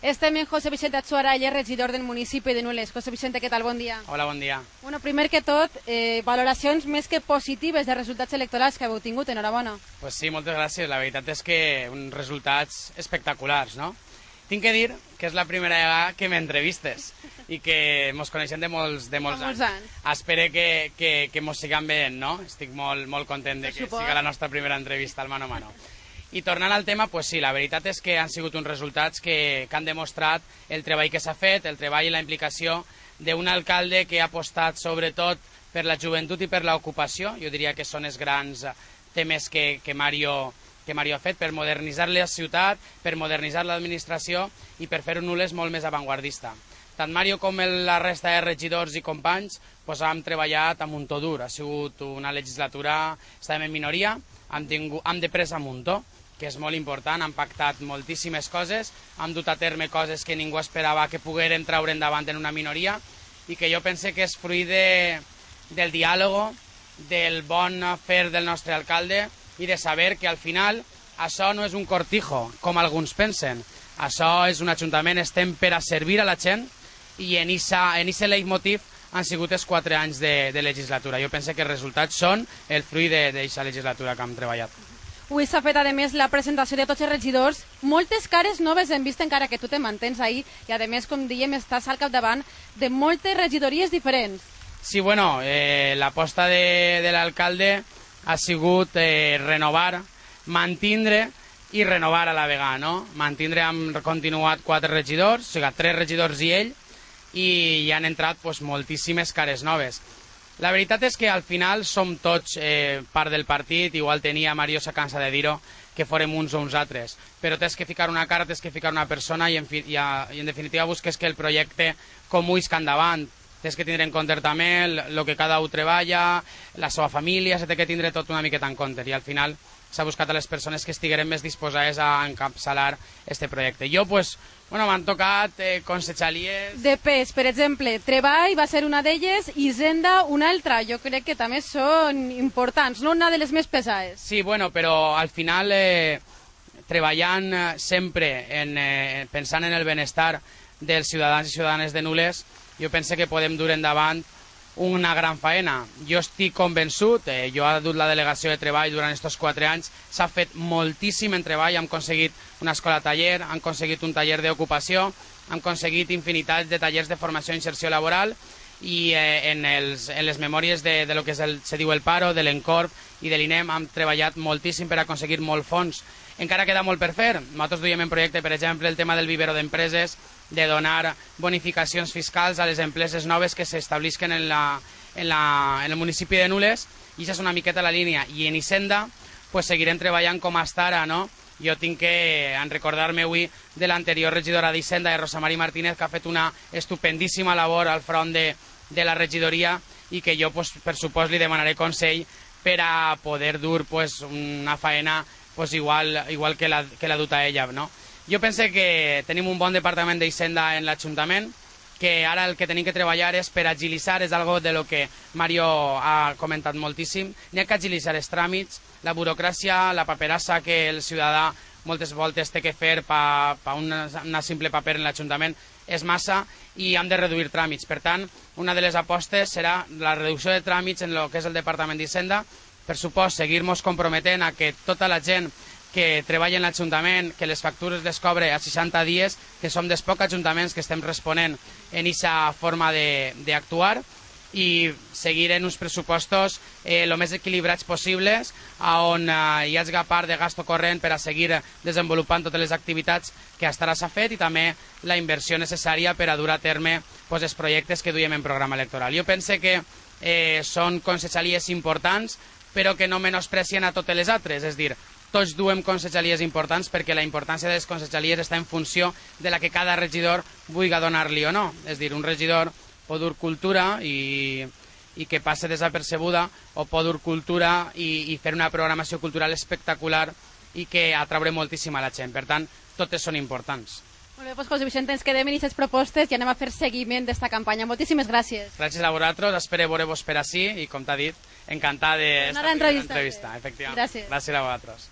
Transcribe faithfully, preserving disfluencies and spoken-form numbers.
Estem en José Vicente Atsuaralla, regidor del municipi de Nules. José Vicente, què tal? Bon dia. Hola, bon dia. Bueno, primer que tot, eh, valoracions més que positives de resultats electorals que heu tingut. Enhorabona. Pues sí, moltes gràcies. La veritat és que uns resultats espectaculars, no? Tinc que dir que és la primera vegada que m'entrevistes i que mos coneixem de molts, de molts, molts anys. anys. Espero que, que, que mos sigam veient, no? Estic molt, molt content de que siga la nostra primera entrevista al mano a mano. I tornant al tema, pues sí, la veritat és que han sigut uns resultats que, que han demostrat el treball que s'ha fet, el treball i la implicació d'un alcalde que ha apostat sobretot per la joventut i per l'ocupació. Jo diria que són els grans temes que, que Mario... que Mario ha fet per modernitzar la ciutat, per modernitzar l'administració i per fer un Nules molt més avantguardista. Tant Mario com la resta de regidors i companys pues, hem treballat amb un to dur. Ha sigut una legislatura, estàvem en minoria, hem, tingut, hem de presa amb un to, que és molt important, hem pactat moltíssimes coses, hem dut a terme coses que ningú esperava que pogueren treure endavant en una minoria i que jo pense que és fruit de, del diàleg, del bon fer del nostre alcalde i de saber que al final això no és un cortijo, com alguns pensen. Això és un ajuntament, estem per a servir a la gent i en aquest leitmotiv han sigut els quatre anys de, de legislatura. Jo penso que els resultats són el fruit d'aquesta legislatura que hem treballat. Avui s'ha fet, a més, la presentació de tots els regidors. Moltes cares noves hem vist, encara que tu te mantens ahí, i a més, com dèiem, estàs al capdavant de moltes regidories diferents. Sí, bueno, eh, l'aposta de, de l'alcalde ha sigut eh, renovar, mantindre i renovar a la vegada, no? Mantindre, hem continuat quatre regidors, o sigui, tres regidors i ell, i hi han entrat pues, moltíssimes cares noves. La veritat és que al final som tots eh, part del partit, igual tenia Mario s'ha cansat de dir-ho, que forem uns o uns altres, però tens que ficar una cara, tens que ficar una persona i en, fi, i, a, i en definitiva busques que el projecte comú isca endavant. Tens que tindre en compte també el que cada un treballa, la seva família, s'ha de tindre tot una miqueta en compte i al final s'ha buscat a les persones que estigueren més disposades a encapçalar aquest projecte. Jo, pues, bueno, m'han tocat eh, consellers... De pes, per exemple, Treball va ser una d'elles i Hisenda una altra. Jo crec que també són importants, no una de les més pesades. Sí, bueno, però al final, eh, treballant sempre, en, eh, pensant en el benestar dels ciutadans i ciutadanes de Nules, jo penso que podem dur endavant una gran faena. Jo estic convençut, eh, jo he dut la delegació de treball durant aquests quatre anys, s'ha fet moltíssim en treball, hem aconseguit una escola taller, hem aconseguit un taller d'ocupació, hem aconseguit infinitat de tallers de formació i inserció laboral i eh, en, els, en les memòries de, de lo que és el, se diu el Paro, de l'Encorp i de l'INEM hem treballat moltíssim per aconseguir molt fons. Encara queda molt per fer. Nosaltres duiem en projecte, per exemple, el tema del vivero d'empreses, de donar bonificacions fiscals a les empreses noves que s'establisquen en, la, en, la, en el municipi de Nules, i això és una miqueta la línia. I en Hisenda pues, seguirem treballant com hasta ara, no? Jo tinc que en recordar-me avui de l'anterior regidora d'Hisenda, de Rosa María Martínez, que ha fet una estupendíssima labor al front de, de la regidoria i que jo, pues, per supost, li demanaré consell per a poder dur pues, una faena pues, igual, igual que, la, que la duta ella, no? Jo penso que tenim un bon departament d'Hisenda en l'Ajuntament, que ara el que tenim que treballar és per agilitzar, és algo de lo que Mario ha comentat moltíssim, n'hi ha que agilitzar els tràmits, la burocràcia, la paperassa que el ciutadà moltes voltes té que fer per pa una, una simple paper en l'Ajuntament és massa i hem de reduir tràmits. Per tant, una de les apostes serà la reducció de tràmits en el que és el Departament d'Hisenda, per supost, seguir-nos comprometent a que tota la gent que treballa en l'Ajuntament, que les factures les cobre a seixanta dies, que som dels pocs ajuntaments que estem responent en aquesta forma d'actuar i seguir en uns pressupostos el eh, més equilibrats possibles, on eh, hi hagi part de gasto corrent per a seguir desenvolupant totes les activitats que fins ara s'ha fet i també la inversió necessària per a dur a terme pues, els projectes que duiem en programa electoral. Jo penso que eh, són conselleries importants, però que no menosprecien a totes les altres, és a dir, tots duem conselleries importants perquè la importància de les conselleries està en funció de la que cada regidor vulgui donar-li o no. És a dir, un regidor pot dur cultura i, i que passe desapercebuda o pot dur cultura i, i fer una programació cultural espectacular i que atraure moltíssim a la gent. Per tant, totes són importants. Molt bé, doncs José Vicente, ens quedem en aquestes propostes i anem a fer seguiment d'esta campanya. Moltíssimes gràcies. Gràcies a vosaltres, espero veure-vos per ací i, com t'ha dit, encantat d'esta entrevista. entrevista. Efectivament. Gràcies. Gràcies a vosaltres.